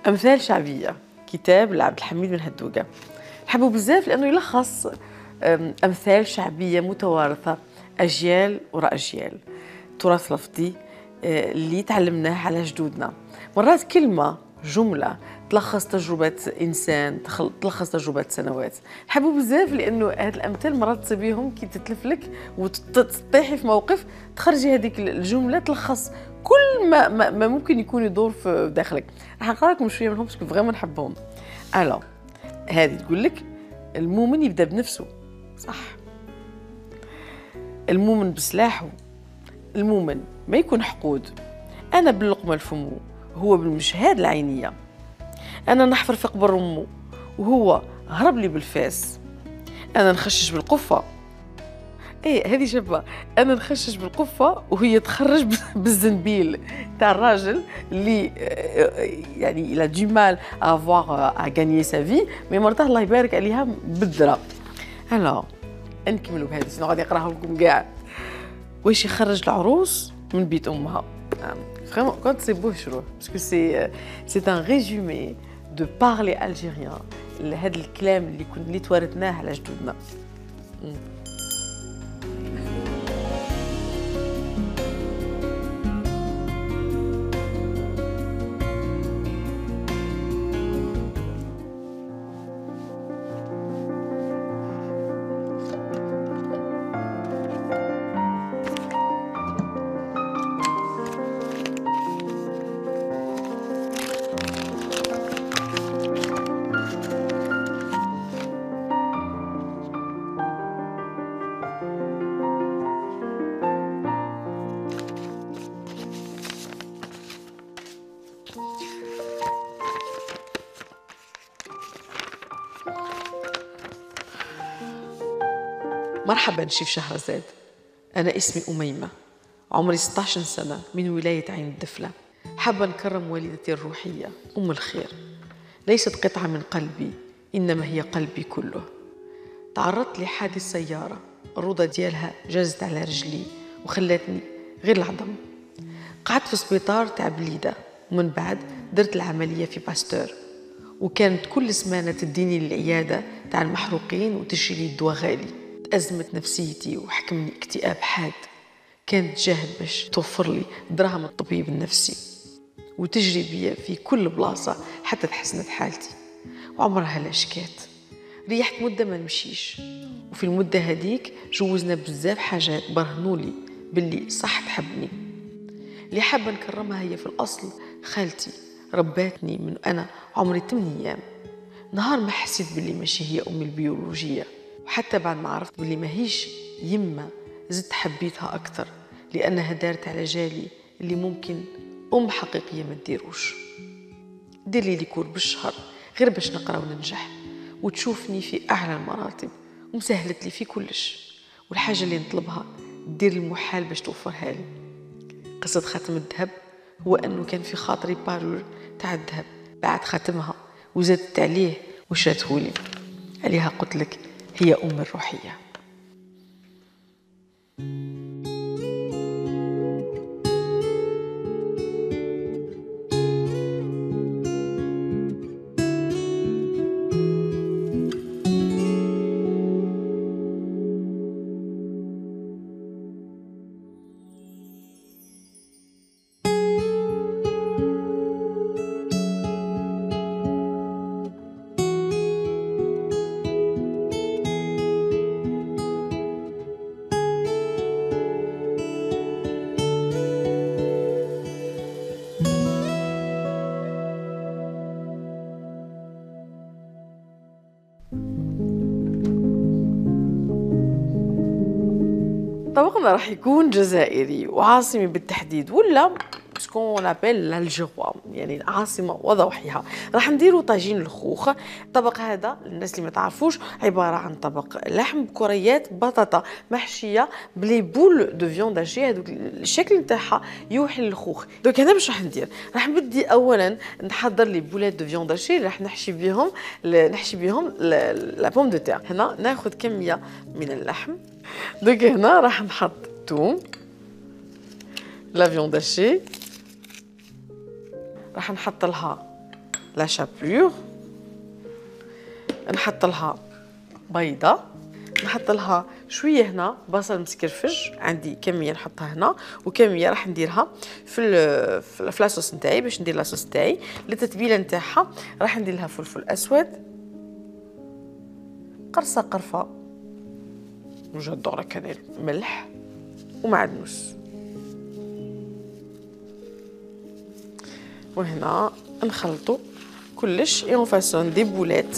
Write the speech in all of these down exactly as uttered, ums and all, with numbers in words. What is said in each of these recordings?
أمثال شعبية، كتاب لعبد الحميد بن هدوقة. نحبه بزاف لأنه يلخص أمثال شعبية متوارثة أجيال وراء أجيال، تراث لفظي اللي تعلمناه على جدودنا. مرات كلمة جملة تلخص تجربة إنسان، تلخص تجربة سنوات. نحبه بزاف لأنه هاد الأمثال مرات تصيبيهم كي تتلف لك وتطيحي في موقف تخرجي هذيك الجملة تلخص كل ما, ما, ما ممكن يكون يدور في داخلك. راح نقرا لكم شوية منهم باسكو فريمون نحبهم. ألو هذه تقول لك المؤمن يبدأ بنفسه، صح؟ المؤمن بسلاحه، المؤمن ما يكون حقود. أنا باللقمة لفمه هو بالمشهاد العينية. أنا نحفر في قبر أمه وهو هرب لي بالفاس. أنا نخشش بالقفة، ايه هذه شابه. انا نخشش بالقفه وهي تخرج بالزنبيل تاع الراجل اللي يعني لا دو مال افوار ا غانيي سا في، مي مرته الله يبارك عليها بالدرا. هلا نكملوا بهذه سنو غادي نقراها لكم كاع. واش يخرج العروس من بيت امها. فريمون كنت سي بو شروح باسكو سي سي ان ريزومي دو بارلي الجيريان، هذا الكلام اللي كنا اللي توارثناه على جدودنا. مرحبا شيف شهرزاد، أنا اسمي أميمة، عمري ستة عشر سنة، من ولاية عين الدفلة. حابة نكرم والدتي الروحية أم الخير، ليست قطعة من قلبي إنما هي قلبي كله. تعرضت لحادث سيارة، الروضة ديالها جازت على رجلي وخلتني غير العظم. قعدت في سبيطار تاع بليدة ومن بعد درت العملية في باستور، وكانت كل سمانة تديني للعيادة تاع المحروقين وتشري لي الدواء غالي. أزمت نفسيتي وحكمني اكتئاب حاد. كانت تجاهد باش توفر لي دراهم الطبيب النفسي وتجري بيا في كل بلاصة حتى تحسنت حالتي، وعمرها لا شكات. ريحت مدة ما نمشيش، وفي المدة هديك جوزنا بزاف حاجات برهنولي باللي صح تحبني. اللي حابة نكرمها هي في الأصل خالتي، رباتني من أنا عمري ثمانية أيام. نهار ما حسيت باللي ماشي هي أمي البيولوجية، وحتى بعد ما عرفت باللي ماهيش يمة زدت حبيتها أكثر، لأنها دارت على جالي اللي ممكن أم حقيقية ما تديروش. دير لي ليكور بالشهر غير باش نقرأ وننجح، وتشوفني في أعلى المراتب، ومسهلت لي في كلش، والحاجة اللي نطلبها دير المحال باش توفرها لي. قصة خاتم الذهب هو أنه كان في خاطري بارور تاع الذهب، بعد خاتمها وزدت عليه وشاتهولي. عليها قلت لك هي أم الروحية. طبقنا راح يكون جزائري وعاصمي بالتحديد، ولا سكون لابيل الجوا، يعني عاصمة وضوحها. راح نديروا طاجين الخوخ. الطبق هذا للناس اللي ما تعرفوش عبارة عن طبق لحم بكريات بطاطا محشية بلي بول دو فيوند هاشي، هذوك الشكل نتاعها يوحي للخوخ. دوك هنا باش راح ندير، راح نبدي اولا نحضر لي بولات دو فيوند هاشي، راح نحشي بهم نحشي بهم لا بوم دو تير. هنا ناخذ كمية من اللحم. دوك هنا راح نحط توم، لا فيوند هاشي، راح نحط لها لا شابور، نحط لها بيضه، نحط لها شويه هنا بصل مسكرفج، عندي كميه نحطها هنا وكميه راح نديرها في في لاصوص نتاعي باش ندير لاصوص نتاعي. للتتبيله نتاعها راح ندير لها فلفل اسود، قرصه قرفه جادور كذا، ملح ومعدنوس، وهنا نخلطوا كلش اي اون فاسون دي بولات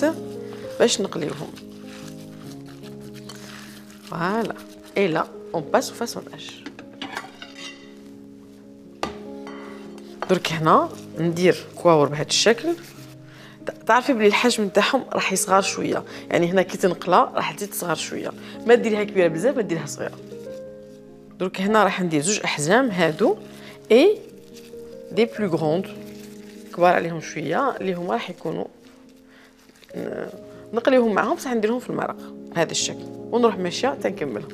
باش نقليوهم. فوالا اي لا اون باس او فاسوناج. درك هنا ندير كواور بهذا الشكل. تعرفي بلي الحجم نتاعهم راح يصغر شويه، يعني هنا كي تنقلها راح تزيد تصغر شويه، ما ديريها كبيره بزاف ما ديريها صغيره. درك هنا راح ندير زوج احجام هادو اي دي بلو غروند كبار عليهم شويه، اللي هما راح يكونوا نقليوهم معهم بصح نديرهم في المرق بهذا الشكل، ونروح ماشيه تنكملها.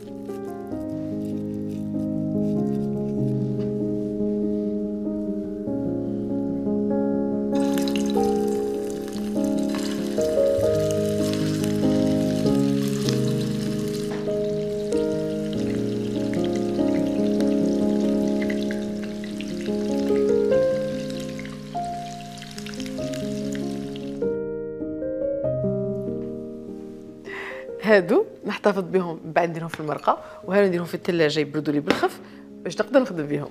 هادو نحتفظ بهم بعد نديرهم في المرقه، وهادو نديرهم في الثلاجه يبردوا لي بالخف باش نقدر نخدم بهم.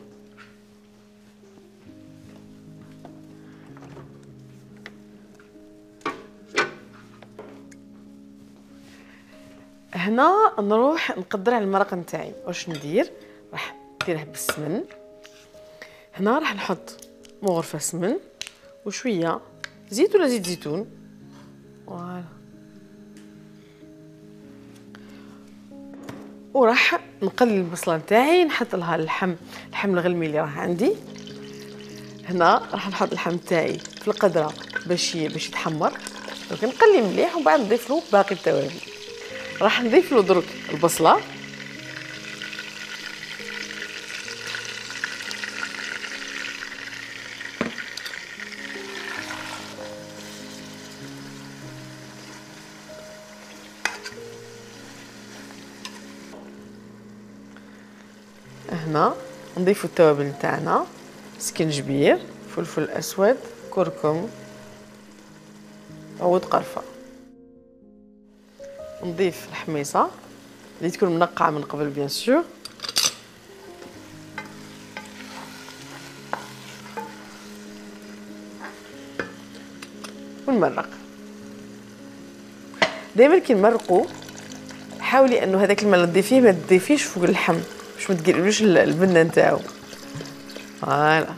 هنا نروح نقدر على المرق نتاعي. واش ندير؟ راح نديره بالسمن. هنا راح نحط مغرفه سمن وشويه زيت ولا زيت زيتون. فوالا، وراح نقلي البصله نتاعي، نحط لها اللحم اللحم الغلمي اللي راه عندي. هنا راح نحط اللحم نتاعي في القدره باش باش يتحمر. دونك نقلي مليح ومن بعد نضيف له باقي التوابل. راح نضيف له درك البصله، هنا نضيفوا التوابل نتاعنا، سكنجبير، فلفل اسود، كركم، عود قرفه. نضيف الحميصه اللي تكون منقعه من قبل بيان سور، ونمرق. دائما كي نمرقوا حاولي انه هذاك الماء اللي تضيفيه ما تضيفيش فوق اللحم باش ما تقلبلوش البنه نتاعو. فوالا،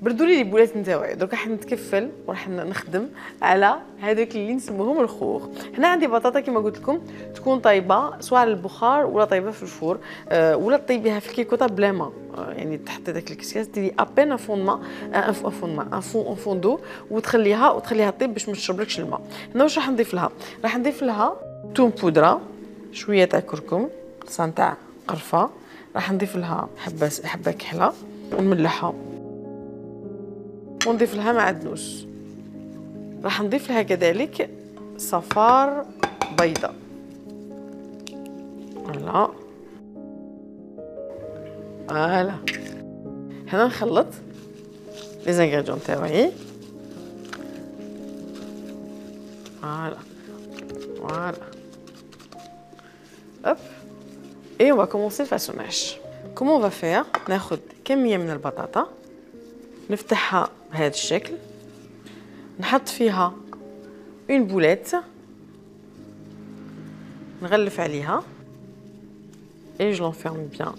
بردوا لي البولات نتاعي. درك راح نتكفل وراح نخدم على هذوك اللي نسموهم الخوخ. هنا عندي بطاطا كما قلت لكم تكون طايبه سواء على البخار ولا طايبه في الفور، أه ولا طيبيها في الكيكوطه بلا ما، أه يعني تحطي داك الكسكاس ديري ابين ان فون ما ان فون ما ان فون ان فون دو وتخليها وتخليها طيب باش ما تشربلكش الماء. هنا واش راح نضيف لها؟ راح نضيف لها توم بودره، شويه تاع كركم، قرصه تاع قرفه، راح نضيف لها حبه حبه كحله ونملحها، ونضيف لها معدنوس. راح نضيف لها كذلك صفار بيضاء. فوالا فوالا. هنا نخلط لي زانغريديون تاعي. فوالا فوالا. هوب اي on va commencer le façonnage. Comment on va faire؟ ناخذ كميه من البطاطا نفتحها بهذا الشكل، نحط فيها اون بوليت، نغلف عليها اي جو لونفيرم بيان،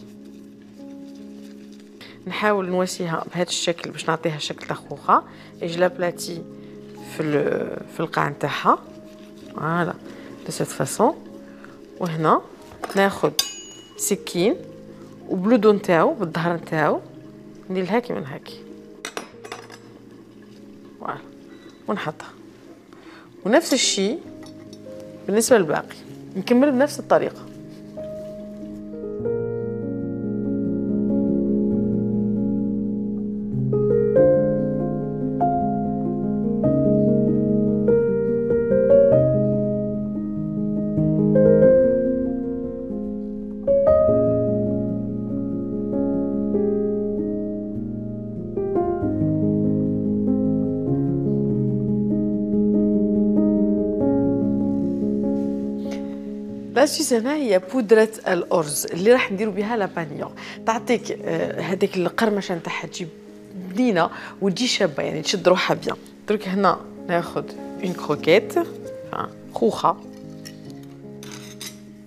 نحاول نواسيها بهذا الشكل باش نعطيها شكل تاع خوخه، اي جو لابلاتي في في القاع نتاعها. فوالا دو سيت فاسون. وهنا ناخذ سكين وبلودو نتاعو بالظهر نتاعو ندير لها كيما هكا. فوالا ونحطها. ونفس الشيء بالنسبه للباقي نكمل بنفس الطريقه. لاسيس هنا هي بودرة الأرز اللي راح نديرو بها لابانيون. تعطيك هذيك القرمشة نتاعها تجي بنينة وتجي شابة، يعني تشد روحها بيان. درك هنا ناخذ اون كروكيت خوخة،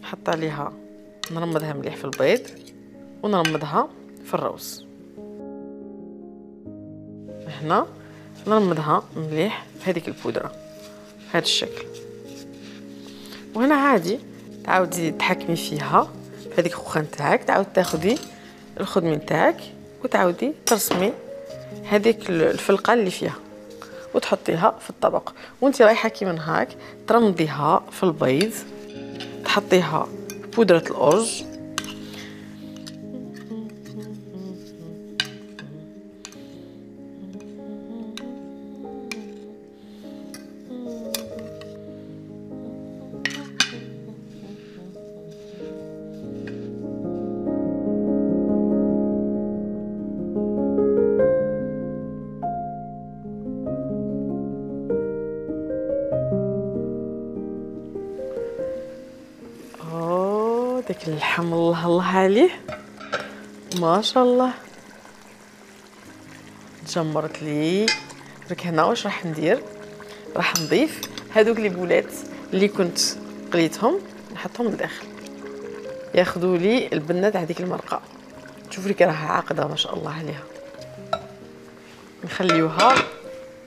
نحط عليها نرمضها مليح في البيض ونرمضها في الروز. هنا نرمضها مليح في هذيك البودرة بهذا الشكل. وهنا عادي تعاودي تحكمي فيها في هذيك الخوخه نتاعك، تعاود تاخذي الخدمه نتاعك وتعاودي ترسمي هذيك الفلقه اللي فيها وتحطيها في الطبق. وانت رايحه كيما هاك ترمضيها في البيض، تحطيها بودره الارز داك اللحم الله الله عليه ما شاء الله تجمرت لي. درك هنا واش راح ندير؟ راح نضيف هذوك لي بولات اللي كنت قليتهم نحطهم لداخل ياخذوا لي البنه تاع هذيك المرقه. شوفوا لي كي راها عاقده ما شاء الله عليها. نخليوها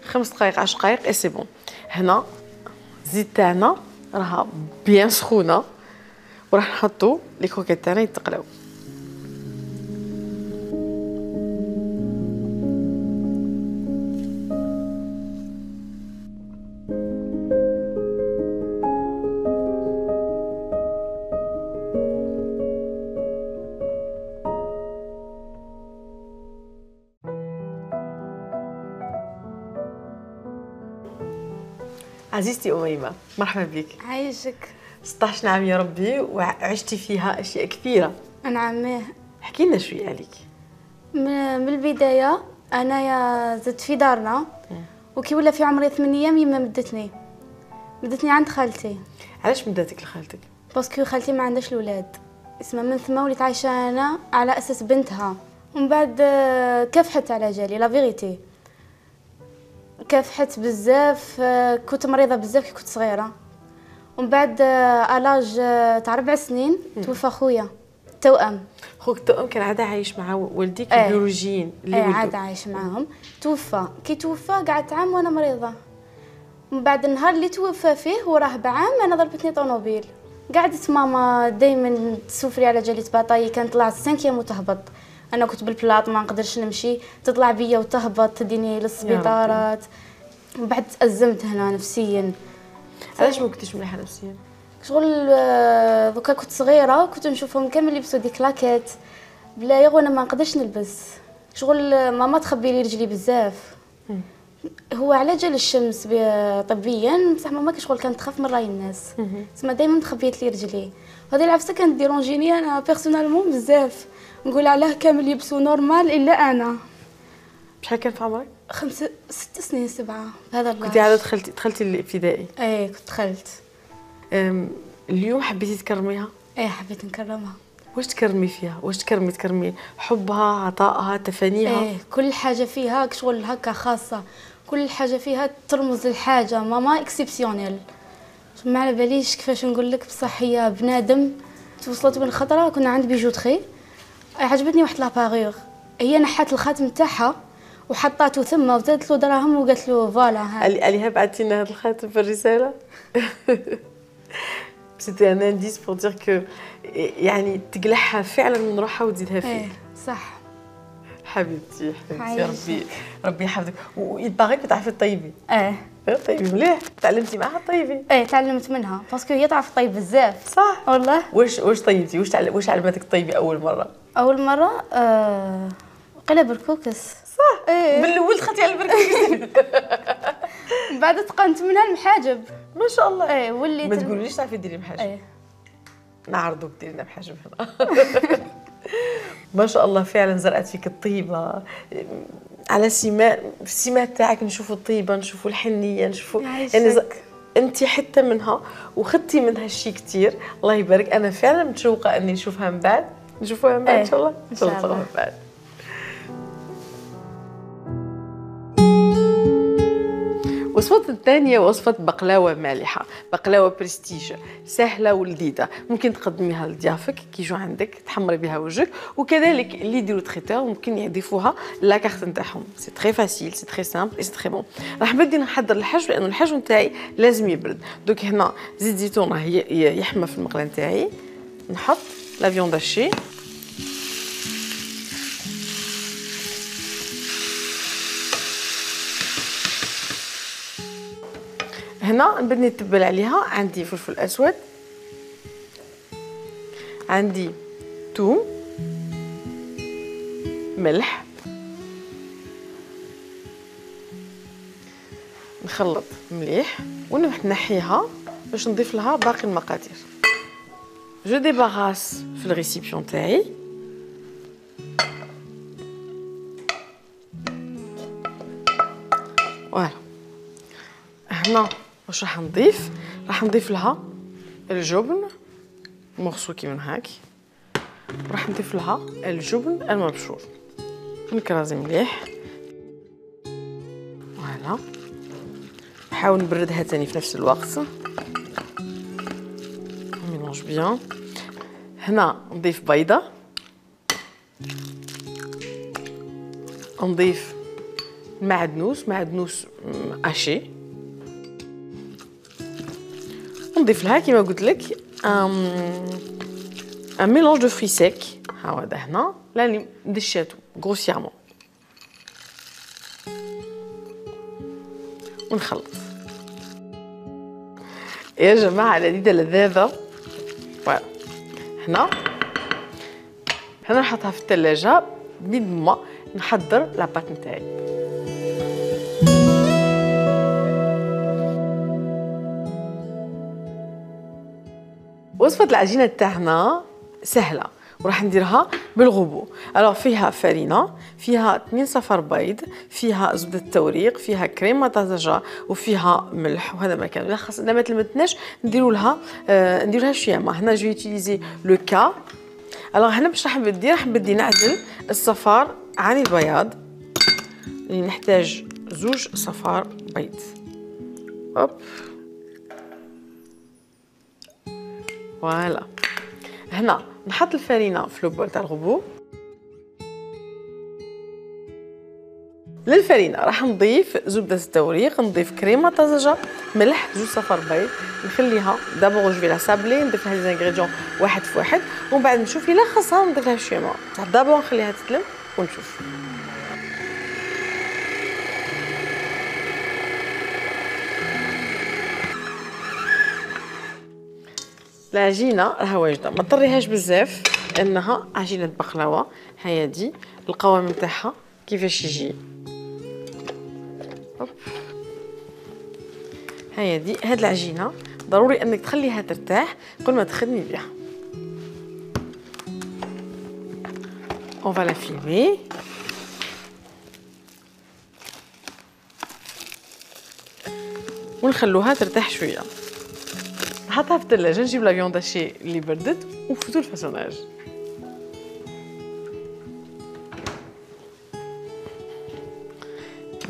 خمس دقائق عشر دقائق اي سي بون. هنا الزيت تاعنا راها بيان سخونه وراح نحطو لي كروكيت تاعنا يتقلاو. عزيزتي أميمة مرحبا بك. عايشك. ستة عشر عام يا ربي وعشتي فيها أشياء كثيرة. نعم. احكي لنا شوية عليك. من البداية أنا زدت في دارنا وكي ولا في عمري ثمانية أيام يما مدتني مدتني عند خالتي. علاش مداتك لخالتك؟ باسكو خالتي ما عندهاش الأولاد، اسمها من ثم وليت عايشة أنا على أساس بنتها. ومن بعد كافحت على جالي لا فيغيتي، كافحت بزاف، كنت مريضة بزاف كي كنت صغيرة. ومن بعد الاج تاع ربع سنين توفى خويا توأم. خوك التوأم كان عاد عايش مع والديك ايه البيولوجيين اللي ايه ولدوا؟ عاد عايش معاهم. توفى كي توفى قعدت عام وانا مريضة. ومن بعد النهار اللي توفى فيه وراه بعام انا ضربتني طونوبيل. قعدت ماما دائما تسوفري على جالية باطاي، كانت طلعت سانكيام وتهبط. انا كنت بالبلاط ما نقدرش نمشي، تطلع بيا وتهبط تديني للسبيطارات. ومن بعد تأزمت هنا نفسيا. علاش ما كنتيش مليحه نفسيا؟ شغل دوكا كنت صغيره كنت نشوفهم كامل يلبسوا ديك لاكيت بلا يغ وانا ما نقدرش نلبس. شغل ماما تخبي لي رجلي بزاف. هو على جال الشمس طبيا بصح ماما كشغل كانت تخاف من راي الناس، تسمى دائما تخبيت لي رجلي. وهذه العفسه كانت ديرونجيني انا بيرسونالمون بزاف، نقول علاه كامل يلبسوا نورمال الا انا. شحال كان في عمرك؟ خمس ست سنين سبعه هذا اللاج. كنتي عاد دخلتي دخلتي الابتدائي؟ ايه كنت دخلت. اليوم حبيتي تكرميها؟ ايه حبيت نكرمها. واش تكرمي فيها؟ واش تكرمي تكرمي حبها، عطائها، تفانيها؟ ايه كل حاجه فيها شغل هكا خاصه، كل حاجه فيها ترمز لحاجه. ماما اكسبسيونيل، ما على باليش كيفاش نقول لك، بصح هي بنادم. توصلت من خطره كنا عند بيجوتري عجبتني واحد لاباريغ، هي نحات الخاتم تاعها وحطاته ثم وزادت له دراهم وقالت له فوالا هذا. قال لها بعثتي لنا هذا الخاتم في الرساله؟ سيتي ان انديس بور دير كو يعني تقلعها فعلا من روحها وتزيدها فيك. ايه صح حبيبتي حبيبتي ربي ربي يحفظك. ويباغيك تعرفي تطيبي؟ ايه طيبي مليح. تعلمتي معها طيبي؟ ايه تعلمت منها باسكو هي تعرف طيب بزاف. صح والله. واش واش طيبتي؟ واش تعلم واش علمتك طيبي اول مره؟ اول مره آه... قلب بركوكس. صح. ايه من الاول دخلتي على البركوكس. من بعد تقنت منها المحاجب ما شاء الله. ايه وليت ما تقوليش تعرفي ديري محاجب. ايه نعرضوك ديري لنا محاجب هنا. ما شاء الله فعلا زرعت فيك الطيبه على سمات السمات تاعك. نشوفوا الطيبه، نشوفوا الحنيه، نشوفوا يعني ز... انت حتى منها وخدتي منها شيء كثير. الله يبارك. انا فعلا متشوقه اني نشوفها من بعد. نشوفوها من بعد ان شاء الله. ان شاء الله نشوفوها من بعد. الوصفة الثانية وصفة بقلاوة مالحة، بقلاوة برستيج سهلة ولذيذة، ممكن تقدميها لضيافك كي يجوا عندك تحمري بها وجهك، وكذلك اللي يديروا تريتور ممكن يضيفوها لاكارت نتاعهم. سي تري فاسيل، سي تري سامبل اي سي تري بون. راح نبدي نحضر الحشو لأنه الحشو نتاعي لازم يبرد. دوك هنا زيت زيتون راه يحمى في المقله نتاعي. نحط لا فيوند هاشي، هنا نبدي نتبل عليها. عندي فلفل اسود، عندي ثوم، ملح، نخلط مليح ونحيها باش نضيف لها باقي المقادير. جو ديباغاس في الريسيبيون تاعي. فوالا هنا واش راح نضيف؟ راح نضيف لها الجبن مغسول كيما هاك، وراح نضيف لها الجبن المبشور نكرازي مليح. فوالا نحاول نبردها تاني في نفس الوقت. ميلونج بيان. هنا نضيف بيضه، نضيف معدنوس معدنوس اشي، نضيف لها كيما قلت لك ان ميلونج دو فري سيك. ها هذا هنا راني دشاتو غروسيامون ونخلط. يا جماعه لذيذه لذاذه. فوالا هنا هنا نحطها في الثلاجه بيد ما نحضر لاباط نتاعي. وصفة العجينة تاعنا سهلة وراح نديرها بالغبو. الوغ فيها فرينة، فيها اثنين صفر بيض، فيها زبدة توريق، فيها كريمة طازجة، وفيها ملح. وهذا ما كان خاص اذا ما تلمتناش نديروا لها آه نديروا لها شويه ما. هنا جو يوتيليزي لو كا. الوغ هنا باش راح نبدي راح نبدي نعزل الصفار عن البياض. اللي نحتاج زوج صفار بيض. اوب فوالا. هنا نحط الفرينه في لوبول تاع الغبو. للفرينه راح نضيف زبده التوريق، نضيف كريمه طازجه، ملح، زوج صفر بيض. نخليها دابور جو لا سابلي، نضيف لها لي زانغريديون واحد في واحد، ومن بعد نشوف الا خاصها نضيف لها شويه ماء. بصح دابور نخليها تتلم ونشوف. العجينه راها واجده، ما تطريهاش بزاف لانها عجينه بقلاوه. هيا دي القوام نتاعها كيفاش يجي. هيا دي هاد العجينه ضروري انك تخليها ترتاح قبل ما تخدمي بها. اون فا لا فيلمي. ونخلوها ترتاح شويه. نحطها في الثلاجه، نجيب لا فيوند هاشي اللي بردت ونفوتو الفاسوناج.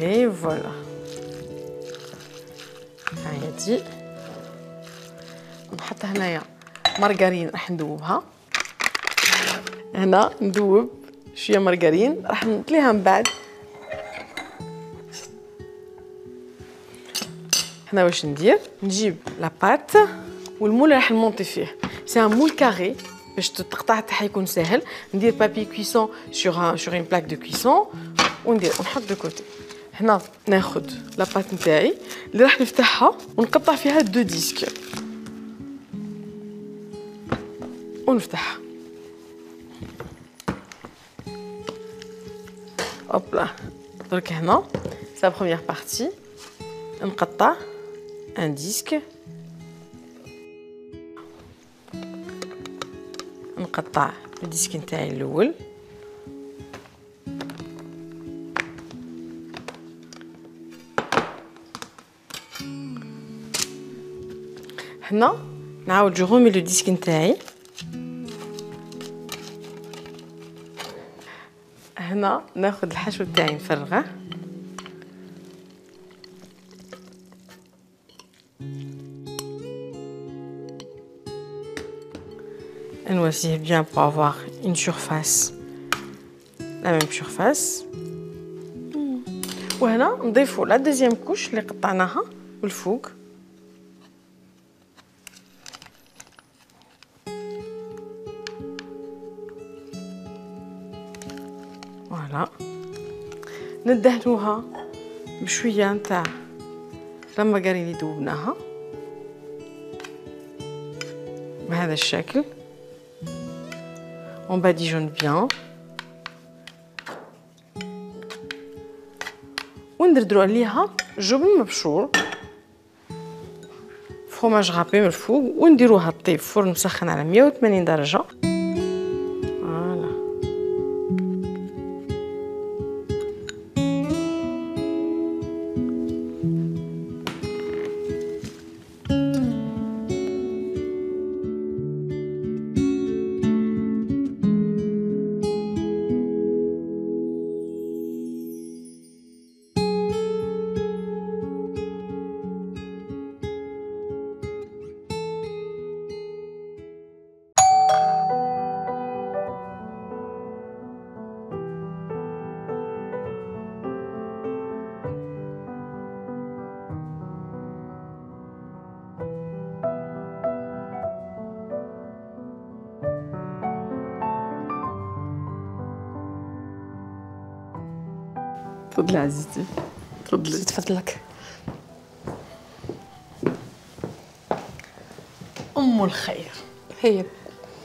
اي فوالا. هاهي دي نحط هنايا مارغرين راح ندوبها. هنا ندوب شويه مارغرين راح نطليها من بعد. هنا واش ندير؟ نجيب لاباط والمول راح نمونطي فيه. سي ان مول كاري باش تقطع تاعها يكون ساهل. ندير بابي كويسون سور سور اون بلاك دو كويسون وندير ونحط دو كوتي. هنا ناخذ لاباط نتاعي اللي راح نفتحها ونقطع فيها دو ديسك ونفتحها. هوبلا. درك هنا سا بروميير بارتي نقطع ان ديسك، نقطع الديسك نتاعي الاول، هنا نعاود جو غومي لو ديسك نتاعي. هنا ناخذ الحشو تاعي نفرغه. نوسيه بيان pour avoir une surface la même surface. وهنا نضيفوا لا دوزيام كوش اللي قطعناها والفوق. فوالا ندهنوها بشويه نتاع لا مارغرين اللي ذوبناها بهذا الشكل. on badigeonne bien وندردرو عليها جبن مبشور فروماج غابي من الفوق ونديروها طيب فرن مسخن على مية وثمانين درجه. فوالا تفضلي عزيزتي تفضلي. تفضلك. ام الخير هي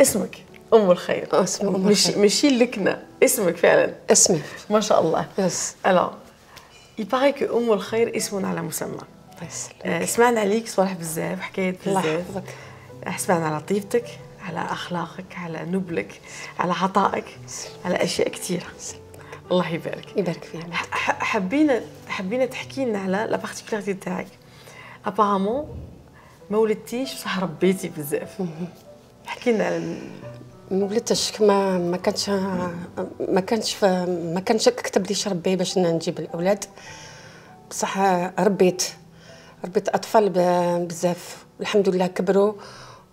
اسمك ام الخير. اسمي ام مش الخير. ماشي اللكنه اسمك فعلا اسمي ما شاء الله. يس. الو il paraît que ام الخير اسم على مسمى. الله يسلمك. آه، سمعنا عليك صراحه بزاف حكايات الله بزاف. يحفظك. سمعنا على طيبتك على اخلاقك على نبلك على عطائك على اشياء كثيره. الله يبارك يبارك فيك. ح- حبينا حبينا تحكي لنا على لا بارتيكولاريتي تاعك. ابارامون ما ولدتيش بصح ربيتي بزاف. احكي لنا على ال- ما ولدتش ما ما كانش ما كانش ما كانش كتب لي ربي باش نجيب الاولاد، بصح ربيت ربيت اطفال بزاف والحمد لله كبروا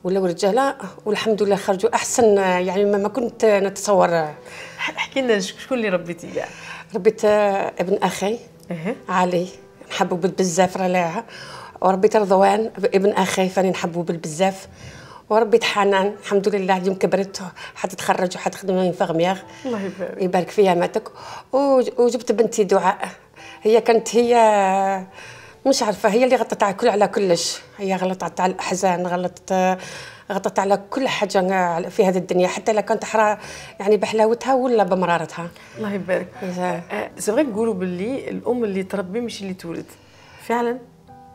ولاو رجاله والحمد لله خرجوا احسن يعني ما كنت نتصور. احكي لنا شكون اللي ربيتي كاع؟ ربيت ابن اخي اها علي نحبو بزاف راه، وربيت رضوان ابن اخي فاني نحبو بزاف، وربيت حنان الحمد لله اليوم كبرت حتتخرج وحتخدم انفيرميير. الله يبارك يبارك فيها ماتك. وجبت بنتي دعاء، هي كانت هي مش عارفه هي اللي غطت على كل على كلش، هي غلطت على الاحزان غلطت غطت على كل حاجه في هذه الدنيا حتى لا كانت حرا يعني بحلاوتها ولا بمرارتها. الله يبارك. سي فري نقولوا باللي الام اللي تربي مش اللي تولد فعلا.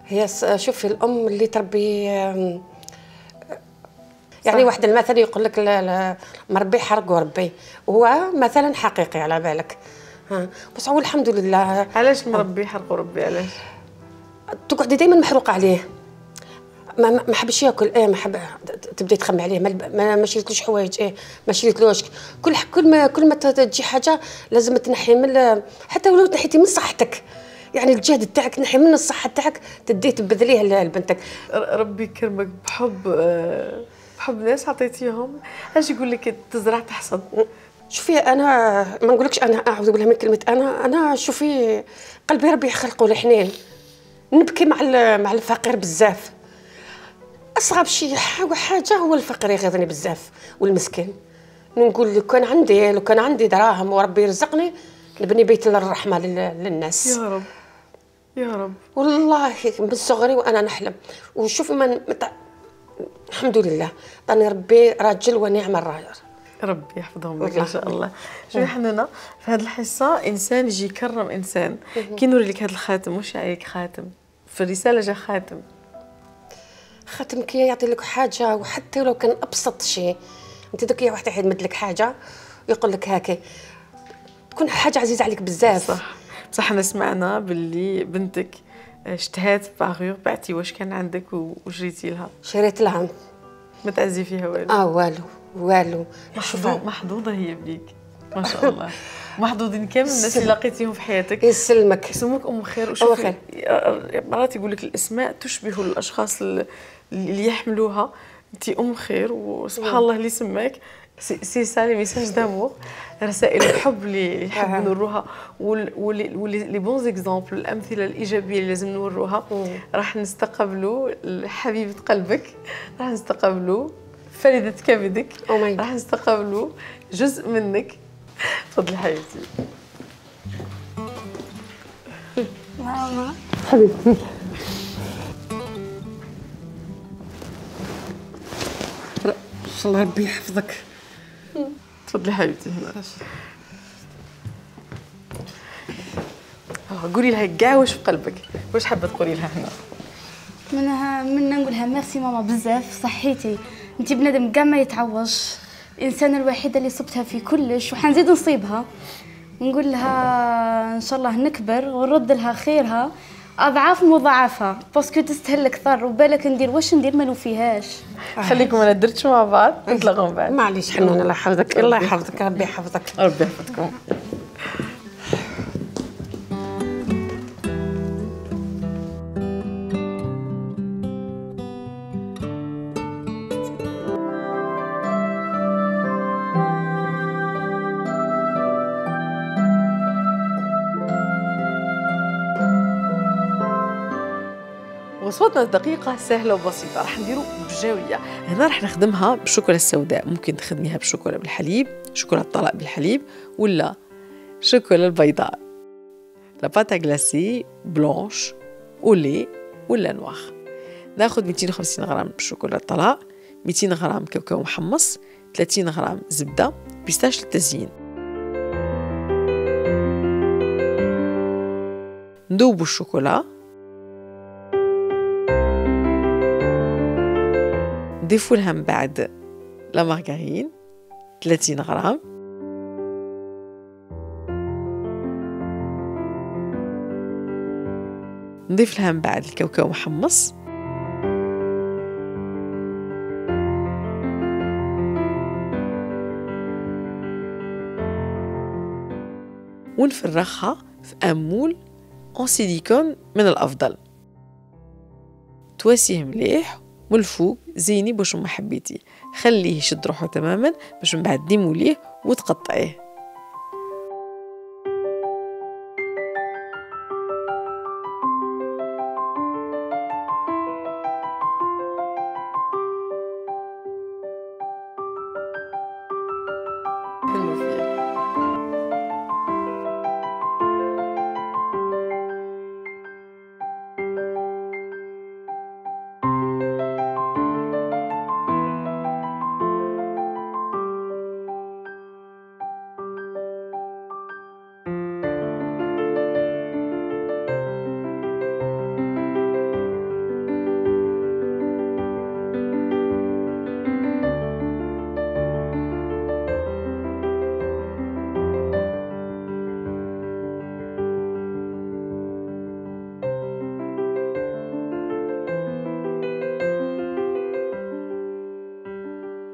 هي شوفي الام اللي تربي يعني واحد المثل يقول لك مربي حرق وربي، هو مثلا حقيقي على بالك. ها بس هو الحمد لله. علاش مربي حرق وربي علاش؟ تقعدي دائما محروقه عليه، ما ما حبش ياكل، ايه ما حب تبداي تخمي عليه، ما ما شريتلوش حوايج، ايه ما شريتلوش كل كل ما كل ما تجي حاجه لازم تنحي من، حتى ولو تنحيتي من صحتك يعني الجهد تاعك تنحي من الصحه تاعك تديه تبذليه لبنتك. ربي يكرمك بحب بحب ناس عطيتيهم. اش يقول لك تزرع تحصد. شوفي انا ما نقولكش انا اعوذ بالله من كلمه انا انا شوفي قلبي ربي يخلقه الحنين، نبكي مع مع الفقير بزاف. اصعب شيء حاجه هو الفقير يغيظني بزاف والمسكين. نقول لو كان عندي لو كان عندي دراهم وربي يرزقني نبني بيت للرحمه للناس. يا رب يا رب. والله من صغري وانا نحلم. وشوف من متع... الحمد لله طاني ربي راجل ونعم الراجل. ربي يحفظهم لك ان شاء الله. شوفي حنانه في هذه الحصه انسان يجي يكرم انسان. كي نوري لك هذا الخاتم واش عليك خاتم في الرساله جا خاتم. خاتم كي يعطي لك حاجه وحتى لو كان ابسط شيء، انت دوك يا واحد يمد لك حاجه ويقول لك هاكي تكون حاجه عزيزه عليك بزاف. صح بصح احنا سمعنا باللي بنتك اشتهات باغور بعتي واش كان عندك وجريتي لها؟ شريت لها. ما تعزي فيها والو؟ اه والو والو. محظوظة محظوظة هي بيك ما شاء الله. محظوظين كامل الناس اللي لقيتيهم في حياتك. يسلمك. يسموك ام خير. أم خير. مرات يقول لك الاسماء تشبه الاشخاص اللي يحملوها. انت ام خير وسبحان الله اللي سماك. سي سا لي ميساج دامور، رسائل الحب اللي نحب نوروها واللي لي بون زيكزامبل، الامثله الايجابيه اللي لازم نوروها. راح نستقبلوا حبيبه قلبك، راح نستقبلوا فريده كبدك، راح نستقبلوا جزء منك. تفضلي حبيبتي. ماما حبيبتي. ان شاء الله ربي يحفظك. تفضلي حبيبتي هنا. قولي لها كاع واش في قلبك، واش حابه تقولي لها هنا؟ منها من نقولها ميرسي ماما بزاف، صحيتي انت بنادم كاع ما يتعوض، الانسانه الوحيده اللي صبتها في كلش وحنزيد نصيبها. نقول لها ان شاء الله نكبر ونرد لها خيرها اضعاف مضاعفه، باسكو تستاهل اكثر، وبالك ندير واش ندير ما نوفيهاش. خليكم انا درتش مع بعض نتلاقاو من بعد. معليش حنون الله يحفظك. الله يحفظك. ربي يحفظك. ربي يحفظكم. وصفتنا الدقيقة سهلة وبسيطة، راح نديرو بجاوية. هنا راح نخدمها بالشوكولا السوداء، ممكن تخدميها بالشوكولا بالحليب، شوكولا الطلاق بالحليب، ولا شوكولا البيضاء لا باتا غلاسي بلونش ولي ولا نواخ. ناخد مئتين وخمسين غرام شوكولا الطلاق، مئتين غرام كاوكاو محمص، ثلاثين غرام زبدة، بيستاش للتزيين. ندوبو الشوكولا، نضيفو لها من بعد لا مارغرين ثلاثين غرام، نضيف لها من بعد الكاوكاو محمص، ونفرغها في امول اون سيليكون من الافضل. تواسيه مليح من الفوق، زيني باش ما حبيتي، خليه يشد روحه تماما باش من بعد ديموليه وتقطعيه.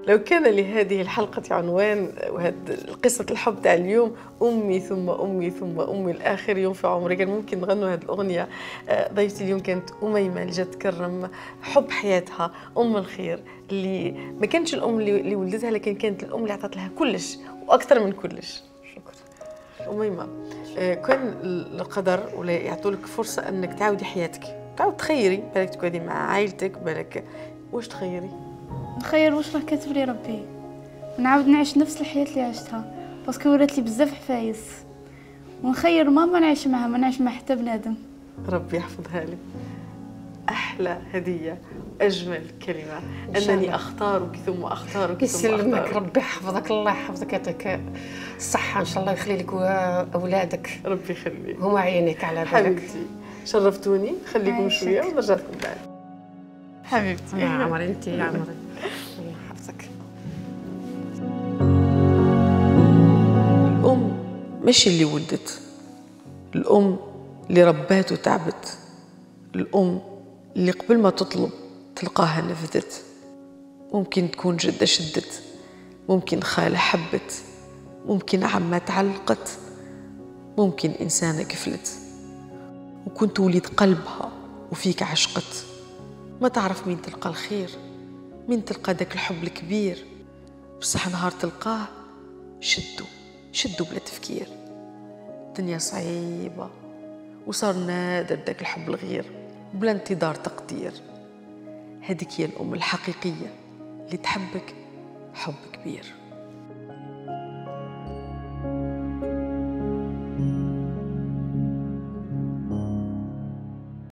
لو كان لهذه الحلقة عنوان وهذه قصة الحب تاع اليوم أمي ثم أمي ثم أمي الآخر يوم في عمري، كان ممكن نغنوا هذه الأغنية. ضيفتي اليوم كانت أميمة اللي جات تكرم حب حياتها، أم الخير اللي ما كانتش الأم اللي ولدتها، لكن كانت الأم اللي عطت لها كلش وأكثر من كلش. شكرا أميمة. كان القدر ولا يعطولك فرصة أنك تعاودي حياتك، تعاود تخيري، بالك تقعدي مع عائلتك، بالك واش تخيري؟ نخير واش راه كاتب لي ربي، نعاود نعيش نفس الحياه اللي عشتها، باسكو ورات لي بزاف حفايس، ونخير ماما نعيش معها، ما نعيش مع حتى بنادم. ربي يحفظها لي. احلى هديه، اجمل كلمه، انني اختارك ثم اختارك ثم اختارك. يسلمك، ربي يحفظك، الله يحفظك، يعطيك الصحه ان شاء الله، يخلي لك اولادك، ربي يخليك، هما عينيك على بالك. حبيبتي شرفتوني، خليكم شويه ونرجع لكم بعد. حبيبتي يا عمري، انت يا عمري، الله يحفظك. الام ماشي اللي ولدت، الام اللي ربات وتعبت، الأم اللي قبل ما تطلب تلقاها نفذت. ممكن تكون جدة شدت، ممكن خالة حبت، ممكن عمة تعلقت، ممكن إنسانة كفلت، وكنت وليد قلبها وفيك عشقت. ما تعرف مين تلقى الخير، مين تلقى داك الحب الكبير، بصح نهار تلقاه شدو شدو بلا تفكير. الدنيا صعيبة وصار نادر داك الحب الغير بلا انتظار تقدير. هذيك هي الأم الحقيقية اللي تحبك حب كبير.